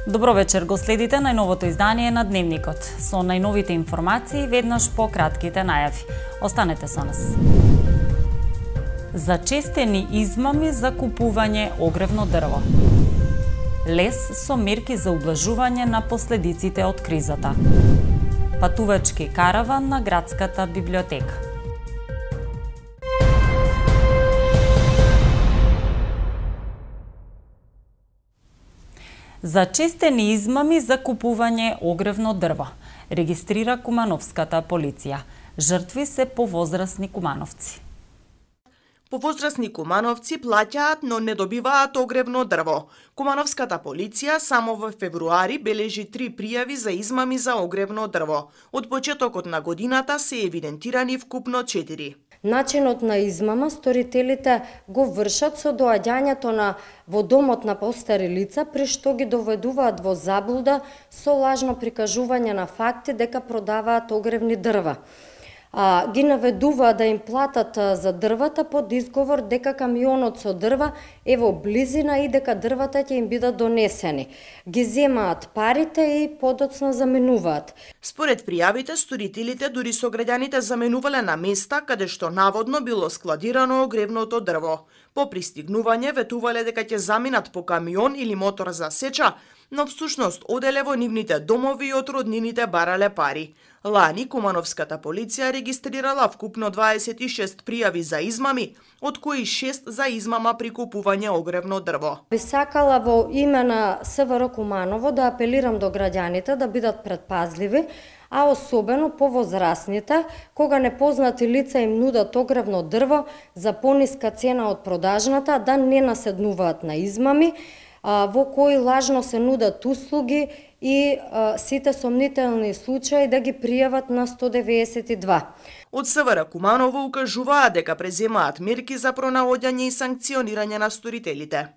Добро вечер, го следите најновото издание на Дневникот. Со најновите информации веднаш по кратките најави. Останете со нас. Зачестени измами за купување огревно дрво. Лес со мерки за ублажување на последиците од кризата. Патувачки караван на градската библиотека. Зачестени измами за купување огревно дрво, регистрира кумановската полиција. Жртви се повозрасни кумановци. Повозрасни кумановци плаќаат, но не добиваат огревно дрво. Кумановската полиција само во февруари бележи 3 пријави за измами за огревно дрво. Од почетокот на годината се евидентирани вкупно 4. Начинот на измама сторителите го вршат со доаѓањето во домот на постари лица, при што ги доведуваат во заблуда со лажно прикажување на факти дека продаваат огревни дрва. Ги наведуваат да им платат за дрвата под изговор дека камионот со дрва е во близина и дека дрвата ќе им бидат донесени. Ги земаат парите и подоцна заменуваат. Според пријавите, сторителите дури со граѓаните заменувале на места каде што наводно било складирано огревното дрво. По пристигнување ветувале дека ќе заминат по камион или мотор за сеча, но всушност оделе во нивните домови и од роднините барале пари. Лани Кумановската полиција регистрирала вкупно 26 пријави за измами, од кои 6 за измама при купување огревно дрво. Би сакала во име на СВР Куманово да апелирам до граѓаните да бидат предпазливи, а особено повозрасните, кога непознати лица им нудат огревно дрво за пониска цена од продажната, да не наседнуваат на измами, во кои лажно се нудат услуги и сите сомнителни случаи да ги пријават на 192. Од СВР Куманово укажуваат дека преземаат мерки за пронаоѓање и санкционирање на сторителите.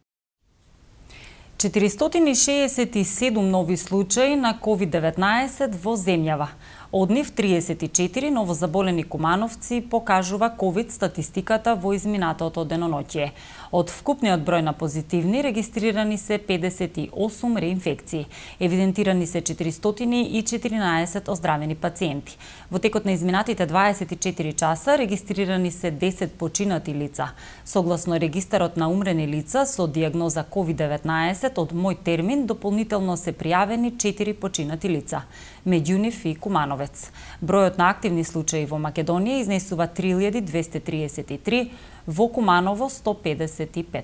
467 нови случаи на COVID-19 во земјава. Од нив 34 новозаболени кумановци покажува ковид статистиката во изминатото деноноќие. Од вкупниот број на позитивни регистрирани се 58 реинфекции. Евидентирани се 414 оздравени пациенти. Во текот на изминатите 24 часа регистрирани се 10 починати лица. Согласно регистарот на умрени лица со дијагноза COVID-19 од мој термин дополнително се пријавени 4 починати лица. Меѓу нив и Кумановец. Бројот на активни случаи во Македонија изнесува 3233, во Куманово 155.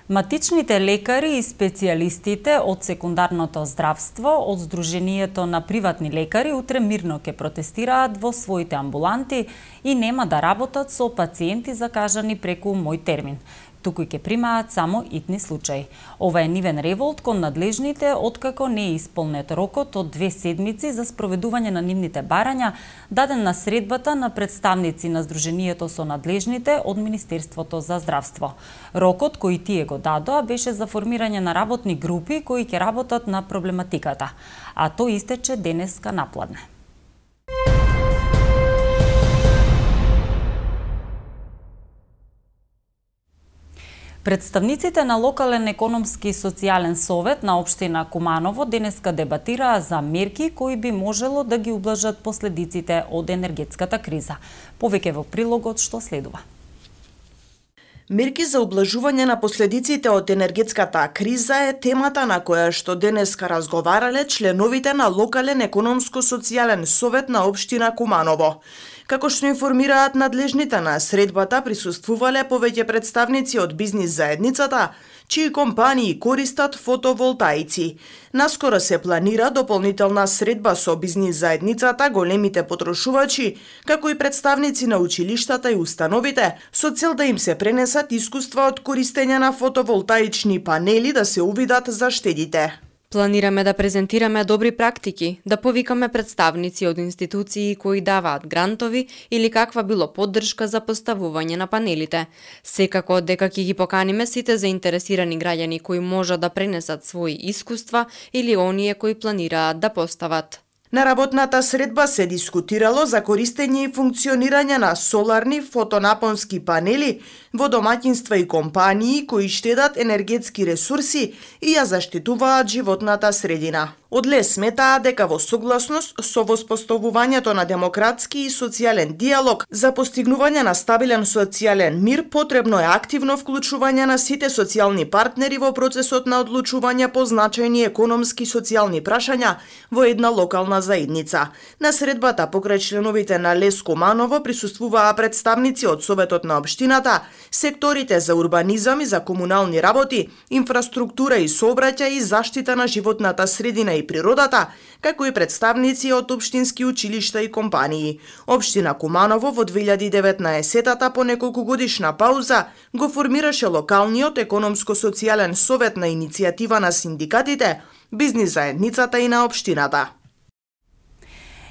Матичните лекари и специјалистите од секундарното здравство од Сдруженијето на приватни лекари утре мирно ќе протестираат во своите амбуланти и нема да работат со пациенти закажани преку мој термин. Туку ќе примаат само итни случаи. Ова е нивен револт кон надлежните откако не е исполнет рокот од 2 седмици за спроведување на нивните барања, даден на средбата на представници на Сдруженијето со надлежните од Министерството за здравство. Рокот кој тие го дадоа беше за формирање на работни групи кои ќе работат на проблематиката, а тој истече денеска напладне. Представниците на локален економски и социјален совет на општина Куманово денеска дебатираа за мерки кои би можело да ги ублажат последиците од енергетската криза. Повеќе во прилогот што следува. Мерки за ублажување на последиците од енергетската криза е темата на која што денеска разговарале членовите на локален економско-социјален совет на општина Куманово. Како што информираат надлежните на средбата, присуствувале повеќе представници од бизнис заедницата, чии компании користат фотоволтаици. Наскоро се планира дополнителна средба со бизнис заедницата, големите потрошувачи, како и представници на училиштата и установите, со цел да им се пренесат искуства од користење на фотоволтаични панели да се увидат за штедите. Планираме да презентираме добри практики, да повикаме представници од институции кои даваат грантови или каква било поддршка за поставување на панелите. Секако дека ќе ги поканиме сите заинтересирани граѓани кои можат да пренесат своји искуства или оние кои планираат да постават. На работната средба се дискутирало за користење и функционирање на соларни фотонапонски панели во домаќинства и компании кои штедат енергетски ресурси и ја заштитуваат животната средина. Од ЛЕС сметаа дека во согласност со воспоставувањето на демократски и социјален диалог за постигнување на стабилен социјален мир потребно е активно вклучување на сите социјални партнери во процесот на одлучување по значајни економски и социјални прашања во една локална заедница. На средбата покрај членовите на ЛЕС Куманово присуствуваа представници од Советот на општината, секторите за урбанизам и за комунални работи, инфраструктура и сообраќај и заштита на животната средина и природата, како и представници од општински училишта и компании. Општина Куманово во 2019-та по неколку годишна пауза го формираше локалниот економско-социјален совет на иницијатива на синдикатите, бизнис заедницата и на општината.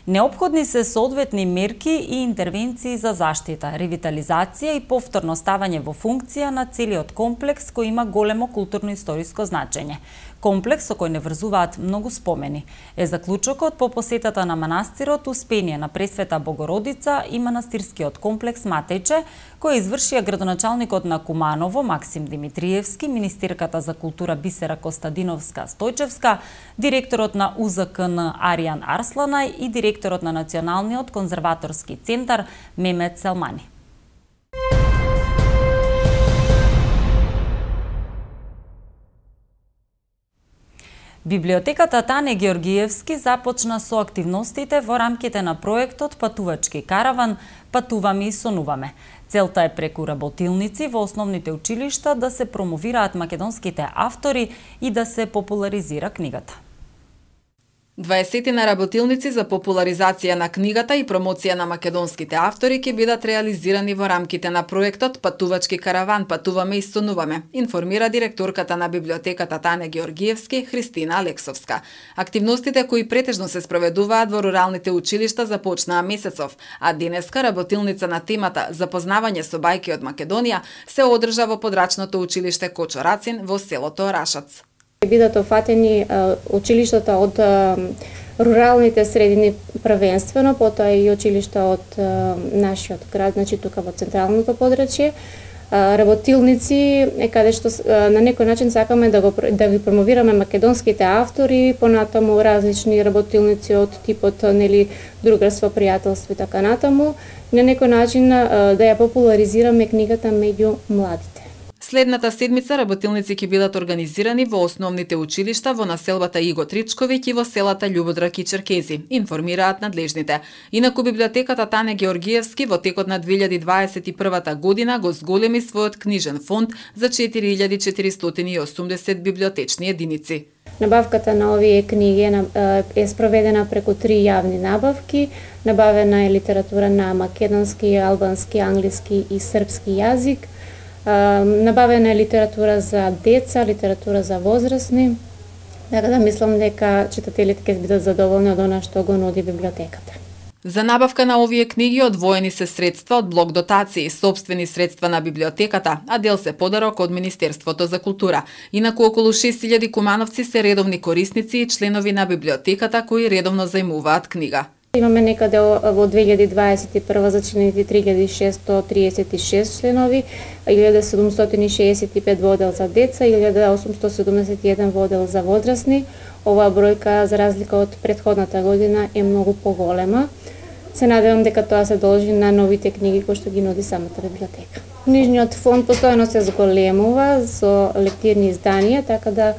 Неопходни се соодветни мерки и интервенции за заштита, ревитализација и повторно ставање во функција на целиот комплекс кој има големо културно-историско значење. Комплекс со кој не врзуваат многу спомени. Е заклучокот по посетата на манастирот Успение на Пресвета Богородица и манастирскиот комплекс Матејче, кој извршија градоначалникот на Куманово Максим Димитриевски, министерката за култура Бисера Костадиновска Стојчевска, директорот на УЗКН Аријан Арсланај и директорот на Националниот конзерваторски центар Мемет Селмани. Библиотеката Тане Георгиевски започна со активностите во рамките на проектот Патувачки караван Патуваме и сонуваме. Целта е преку работилници во основните училишта да се промовираат македонските автори и да се популаризира книгата. 20 на работилници за популаризација на книгата и промоција на македонските автори ќе бидат реализирани во рамките на проектот Патувачки караван Патуваме и сонуваме, информира директорката на библиотеката Тане Георгиевски Христина Алексовска. Активностите кои претежно се спроведуваат во руралните училишта започнаа месецов, а денеска работилница на темата Запознавање со бајки од Македонија се одржа во подрачното училиште Кочо Рацин во селото Рашац. Бидат офатени училиштата од руралните средини првенствено, потоа и училишта од нашиот град, значи тука во централното подрачје. Работилници е каде што на некој начин сакаме да ги промовираме македонските автори, понатаму различни работилници од типот другарство, пријателство и така натаму, на некој начин да ја популаризираме книгата меѓу младите. Следната седмица работилници ќе бидат организирани во основните училишта во населбата Иго Тричковиќ и во селата Љубодрак и Черкези, информираат надлежните. Инаку библиотеката Тане Георгиевски во текот на 2021 година го зголеми својот книжен фонд за 4480 библиотечни единици. Набавката на овие книги е спроведена преку 3 јавни набавки. Набавена е литература на македонски, албански, англиски и српски јазик. Набавена е литература за деца, литература за возрастни, така да мислам дека читателите ќе бидат задоволни од она што го нуди библиотеката. За набавка на овие книги одвоени се средства од блок дотации, сопствени средства на библиотеката, а дел се подарок од Министерството за култура. Инаку околу 6000 кумановци се редовни корисници и членови на библиотеката кои редовно зајмуваат книга. Имаме некаде во 2021 зачинети 3636 членови, 1765 во оддел за деца, 1871 во оддел за возрастни. Оваа бројка, за разлика од претходната година, е многу поголема. Се надевам дека тоа се должи на новите книги кои што ги нуди самата библиотека. Книжниот фонд постојано се зголемува со лектирни изданија, така да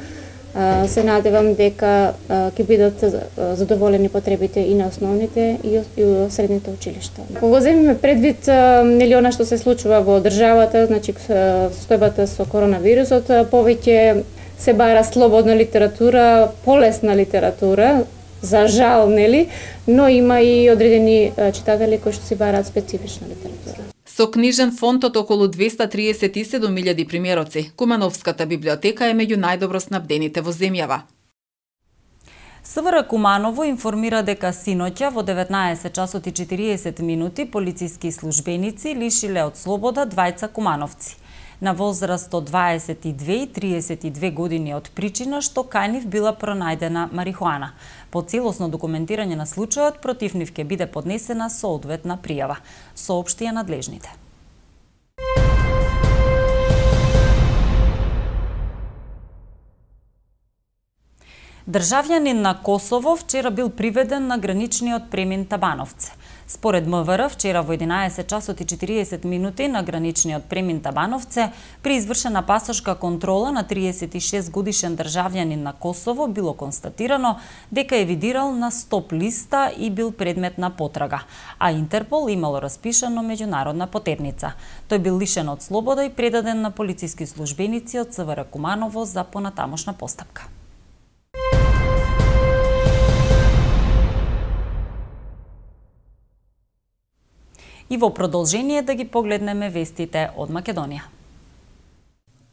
се надевам дека ќе бидат задоволени потребите и на основните и средните училишта. Кога земеме предвид она што се случува во државата, значи состојбата со коронавирусот, повеќе се бара слободна литература, полесна литература, за жал, но има и одредени читатели кои што си бараат специфична литература. Со книжен фонд од околу 237.000 примероци, Кумановската библиотека е меѓу најдобро снабдените во земјава. СВР Куманово информира дека синоќа во 19 часот и 40 минути полициски службеници лишиле од слобода двајца кумановци. на возраст од 22 и 32 години од причина што кај нив била пронајдена марихуана. По целосно документирање на случајот против нив ќе биде поднесена соодветна пријава, соопштија надлежните. Државјанин на Косово вчера бил приведен на граничниот премин Табановце. Според МВР, вчера во 11 часот и 40 минути на граничниот премин Табановце, при извршена пасошка контрола на 36 годишен државјанин на Косово било констатирано дека е видирал на стоп листа и бил предмет на потрага, а Интерпол имало распишано меѓународна потерница. Тој бил лишен од слобода и предаден на полициски службеници од СВР Куманово за понатамошна постапка. И во продолжение да ги погледнеме вестите од Македонија.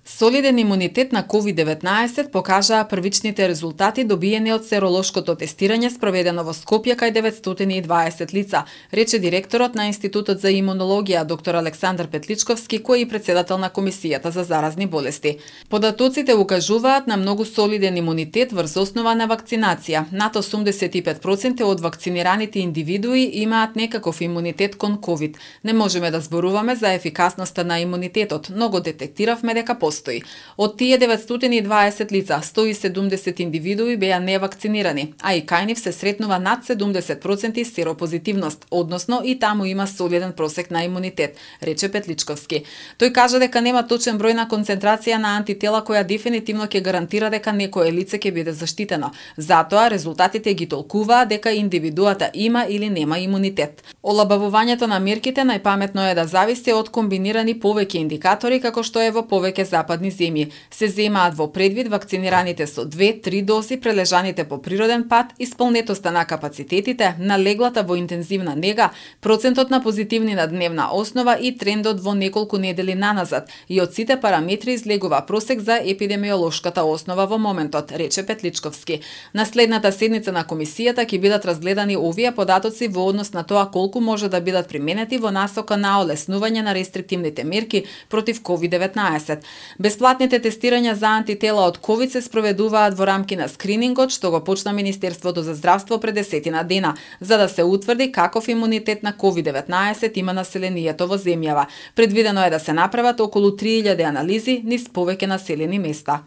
Солиден имунитет на COVID-19 покажаа првичните резултати добиени од серолошкото тестирање спроведено во Скопје кај 920 лица, рече директорот на Институтот за имунологија доктор Александар Петличковски, кој е председател на Комисијата за заразни болести. Податоците укажуваат на многу солиден имунитет врз основа на вакцинација. Над 85% од вакцинираните индивидуи имаат некаков имунитет кон COVID. Не можеме да зборуваме за ефикасноста на имунитетот, но го детектиравме дека постои. Од тие 920 лица, 170 индивидуи беа невакцинирани, а и кај нив се сретнува над 70% серопозитивност, односно и таму има солиден просек на имунитет, рече Петличковски. Тој кажа дека нема точен број на концентрација на антитела која дефинитивно ќе гарантира дека некое лице ќе биде заштитено. Затоа резултатите ги толкуваат дека индивидуата има или нема имунитет. Олабавувањето на мерките најпаметно е да зависи од комбинирани повеќе индикатори како што е во повеќе западни земји. Се земаат во предвид вакцинираните со 2-3 дози, прележаните по природен пат, исполнетоста на капацитетите, на леглата во интензивна нега, процентот на позитивни на дневна основа и трендот во неколку недели наназад. И од сите параметри излегува просек за епидемиолошката основа во моментот, рече Петличковски. На следната седница на комисијата ќе бидат разгледани овие податоци во однос на тоа колку може да бидат применети во насока на олеснување на рестриктивните мерки против COVID-19. Бесплатните тестирања за антитела од COVID се спроведуваат во рамки на скринингот што го почна Министерството за здравство пред 10 дена, за да се утврди каков имунитет на COVID-19 има населението во земјава. Предвидено е да се направат околу 3000 анализи низ повеќе населени места.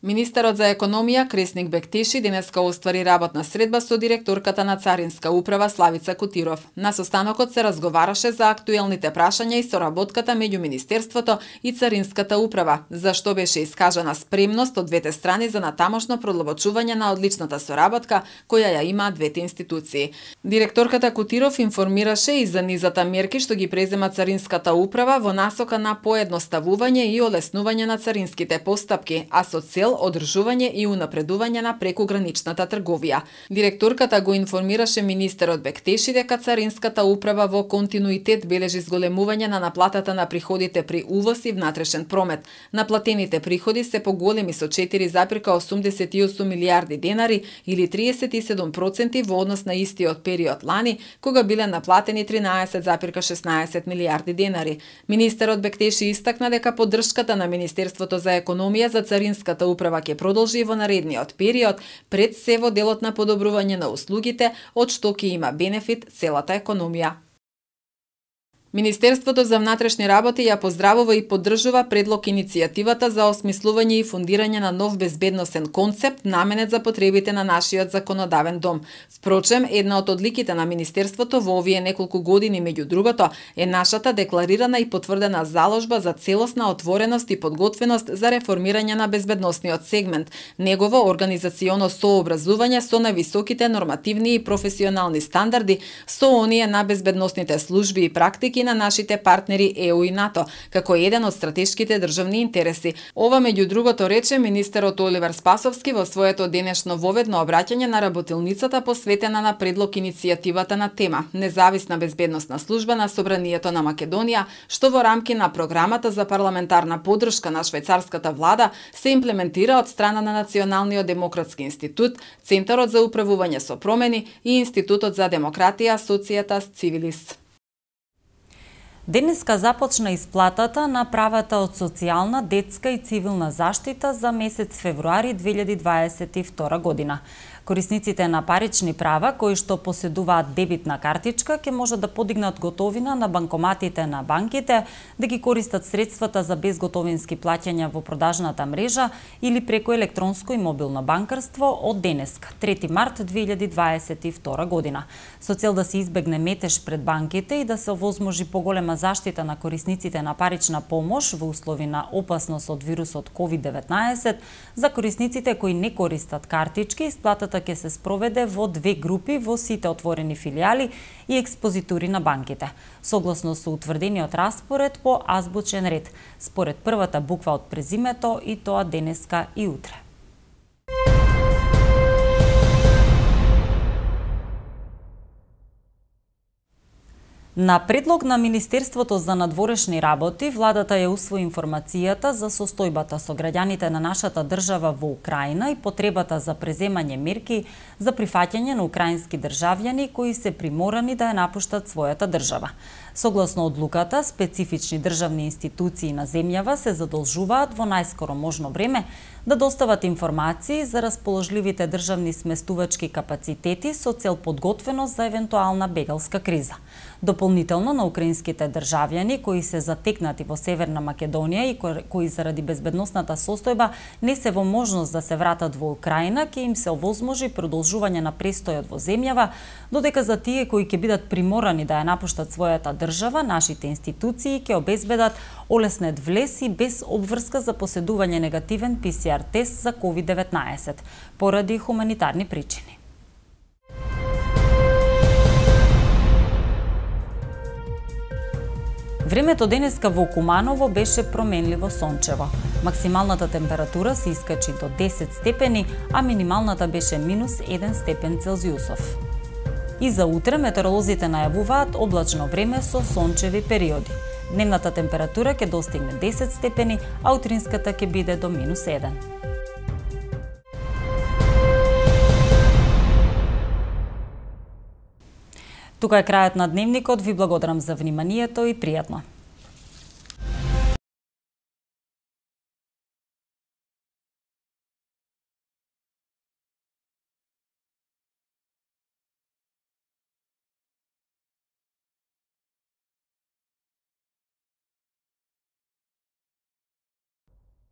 Министерот за економија Кресник Бектеши денеска оствари работна средба со директорката на Царинска управа Славица Кутиров. На состанокот се разговараше за актуелните прашања и соработката меѓу Министерството и Царинската управа, за што беше искажана спремност од двете страни за натамошно продлабочување на одличната соработка која ја имаат двете институции. Директорката Кутиров информираше и за низата мерки што ги презема Царинската управа во насока на поедноставување и олеснување на царинските постапки, а со цел одржување и унапредување на прекуграничната трговија. Директорката го информираше министерот Бектеши дека Царинската управа во континуитет бележи зголемување на наплатата на приходите при увоз и внатрешен промет. Наплатените приходи се поголеми со 4,88 милиарди денари или 37% во однос на истиот период лани, кога биле наплатени 13,16 милиарди денари. Министерот Бектеши истакна дека поддршката на Министерството за економија за Царинската управа ќе продолжи во наредниот период, пред се во делот на подобрување на услугите, од што ќе има бенефит целата економија. Министерството за внатрешни работи ја поздравува и поддржува предлог иницијативата за осмислување и фундирање на нов безбедносен концепт наменет за потребите на нашиот законодавен дом. Впрочем, една од одликите на Министерството во овие неколку години меѓу другото е нашата декларирана и потврдена заложба за целосна отвореност и подготвеност за реформирање на безбедносниот сегмент, негово организационо сообразување со највисоките нормативни и професионални стандарди, со оние на безбедносните служби и практики на нашите партнери ЕУ и НАТО, како еден од стратешките државни интереси. Ова меѓу другото рече министерот Оливер Спасовски во своето денешно воведно обраќање на работилницата посветена на предлог иницијативата на тема Независна безбедносна служба на Собранието на Македонија, што во рамки на програмата за парламентарна поддршка на швајцарската влада се имплементира од страна на Националниот демократски институт, Центарот за управување со промени и Институтот за демократија Societas Civilis. Денеска започна исплатата на правата од социјална, детска и цивилна заштита за месец февруари 2022 година. Корисниците на парични права кои што поседуваат дебитна картичка ќе може да подигнат готовина на банкоматите на банките, да ги користат средствата за безготовински плаќања во продажната мрежа или преку електронско и мобилно банкарство од денеска, 3 март 2022 година. Со цел да се избегне метеж пред банките и да се овозможи поголема заштита на корисниците на парична помош во услови на опасност од вирусот COVID-19, за корисниците кои не користат картички, исплатата ќе се спроведе во две групи во сите отворени филијали и експозитури на банките, согласно со утврдениот распоред по азбучен ред, според првата буква од презимето, и тоа денеска и утре. На предлог на Министерството за надворешни работи, владата ја усвои информацијата за состојбата со граѓаните на нашата држава во Украина и потребата за преземање мерки за прифаќање на украински државјани кои се приморани да ја напуштат својата држава. Согласно одлуката, специфични државни институции на земјава се задолжуваат во најскоро можно време да достават информации за расположливите државни сместувачки капацитети со цел подготвеност за евентуална бегалска криза. Дополнително на украинските државјани кои се затекнати во Северна Македонија и кои заради безбедносната состојба не се во можност да се вратат во Украина, ќе им се овозможи продолжување на престојот во земјава, додека за тие кои ќе бидат приморани да ја напуштат својата држава, нашите институции ќе обезбедат олеснет влез и без обврска за поседување негативен PCR тест за COVID-19 поради хуманитарни причини. Времето денеска во Куманово беше променливо сончево. Максималната температура се искачи до 10 степени, а минималната беше -1 степен Целзиусов. И за утре метеоролозите најавуваат облачно време со сончеви периоди. Дневната температура ќе достигне 10 степени, а утринската ќе биде до -1. Тука е крајот на дневникот, ви благодарам за вниманието и пријатно.